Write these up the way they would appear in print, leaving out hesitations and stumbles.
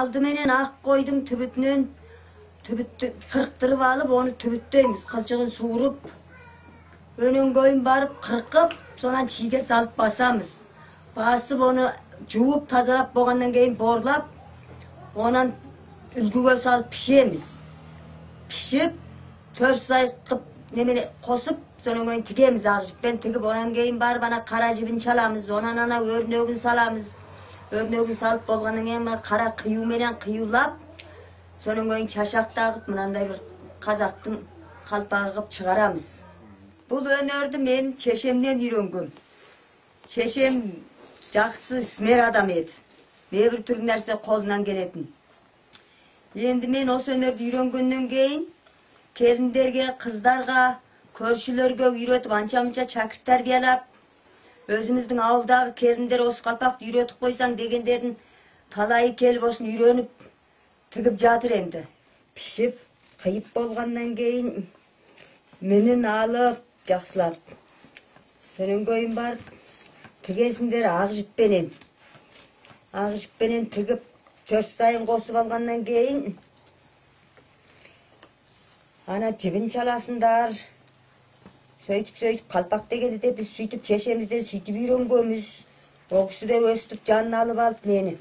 Aldımenen ak koydum tübütünün. Tübüttü kırıktırıp alıp onu tübütteymiz. Kılçığın soğurup. Önün koyun barıp kırkıp sonra çiğge salıp basamız. Basıp onu cuvup tazalap boğandan keyin borlap ondan ülgüge salıp pişemiz. Pişip 4 say kıp nemene kosup sonra koyun tigemiz ağırcık. Ben tigip ondan keyin barıp bana kara cibin çalamız. Ondan ana örnögün salamız. Örnögün salıp bolgandan keyin kara kıyumenen kıyulap sonra koyun çaşak tağıp mınандай bir kazaktın kalpağı kıp çıgaramız. Bu önörді men çeşemden үйренгем. Çeşem жақсы ісмер адам еді. Небір түрлі нәрсе қолынан келетін. Енді мен осы өнерді үйренгеннен кейін келіндерге, қыздарға, көршілерге үйретіп, анша-мұнша шәкірт тәрбиелеп, өзіміздің ауылдағы келіндер осы қалпақты үйретіп қойсаң дегендердің талайы келіп осын үйреніп тігіп жатыр енді. Пішіп, қиып болғаннан кейін менен алып жақсылап. Сонан көйін бар тігесіндер ақ жіппенен. Ақ жіппенен тігіп 4 сайын қосып алғаннан кейін ана жібін çalасындар. Сөйтіп қалпақ дегенде де біз сөйтіп шешемізден сөйтіп үйренгенбіз. Ол кісі де өстіп жанын алып алып мені.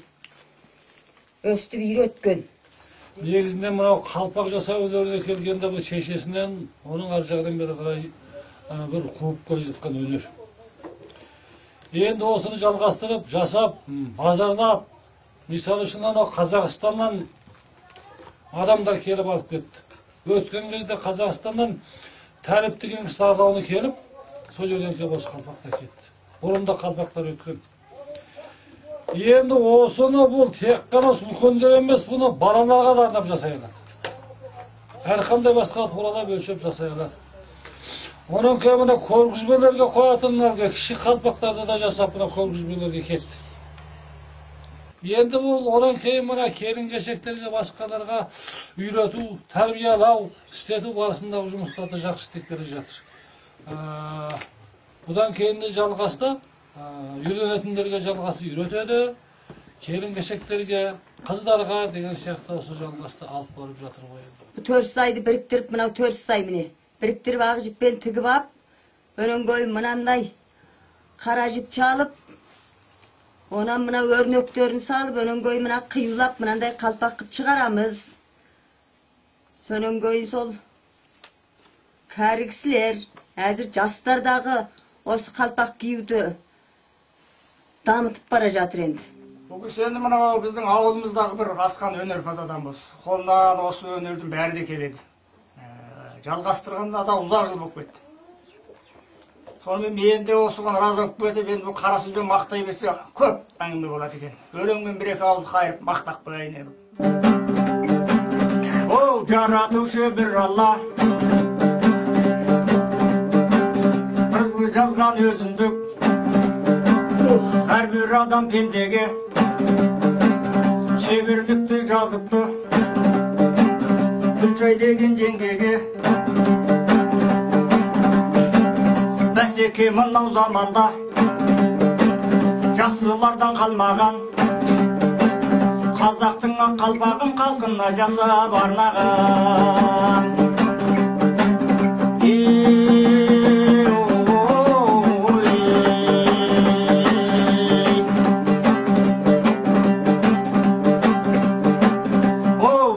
Өстіп үйреткен. Негізінде мынау қалпақ жасау өнеріне келгенде бұл шешесінен оның ар жағынан бері қарай бір қуып келе жатқан өнер. Енді осыны жалғастырып, жасап, базарлап, мысалы үшін анау Қазақстаннан адамдар келіп алып кетті. Өткен кезде Қазақстаннан Тәріп деген кісі ардауына келіп, сол жерден келіп осы қалпақта кетті. Бұрында қалпақтар өткен. Енді осыны бұл тек қана үлкендер емес, бұны балаларға да арнап жасай алады. Әрқандай басқа туралап өлшеп жасай алады. Оның кейін мына көргізбелерге қоятынларға кіші қалпақтарды да жасап мына көргізбелерге кетті. Енді бұл одан кейін мына келін-кешектерге басқаларға үйрету, тәрбиелау, істету барысындағы жұмыстарды жақсы істеп келе жатыр. Бұдан кейін де жалғасты. Үйренетіндерге жалғасы үйретеді, келін-кешектерге, қыздарға деген сияқты осы жалғасты алып барып жатыр ғой. 4 сайды біріктіріп, мынау 4 сай міне. Біріктіріп ақ жіппен тігіп ап, өнен көй мынандай қара жіп чалып, онан мына өрнөктерін салып, өнен көй мына қиюлап, мынандай қалпақ қып шығарамыз. Сонен көй сол кәрі кісілер, әзір жастардағы осы қалпақ киюді дамытып бара жатыр енді. Бұл кісі енді мынау біздің ауылымыздағы бір асқан өнерпаз адам болсын. Қолынан осы өнердің бәрі де келеді. Жалғастырғанда да ұзақ жыл болып кетті. Сонымен мен де осыған разы болып кетіп, енді бұл қара сөзбен мақтай берсе көп әңгіме болады екен. Өлеңмен бір-екі ауыз қайырып мақтақ қояйын едім. Ол жаратушы бір Алла, бізді жазған өзіндік. Әрбір адам пендеге шеберлікті жазыпты, Күлчай деген жеңгеге. Бәсеке мынау заманда жақсылардан қалмаған, қазақтың ақ қалпағын қалқына жасап арнаған.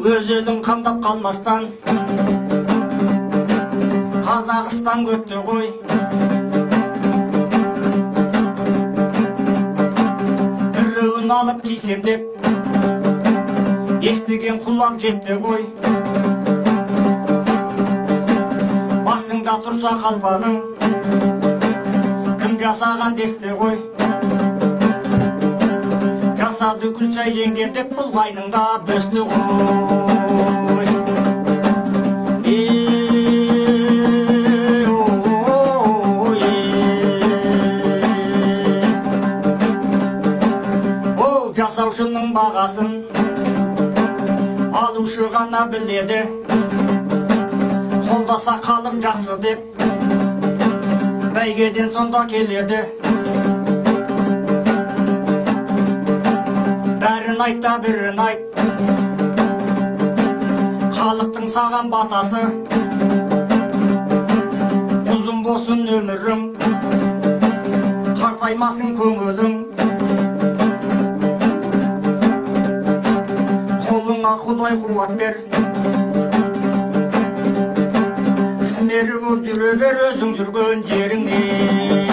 Өзелін қамдап қалмастан Қазақстан көтті ғой. Біреуін алып кисем деп естіген құлақ жетті ғой. Басыңда тұрса қалпағың кім жасаған десті ғой. Жасады Күлчай жеңген деп құлғайныңда бөсті ғой. Ол жасаушының бағасын алушы ғана біледі. Қолдаса қалым жақсы деп бәйгеден сонда келеді. айта бірін айт, халықтың саған батасы, ұзын болсын өмірің, қартаймасын көңілің, қолыңа Құдай қуат бер, ісмері болып жүре бер өзің жүрген жеріңе.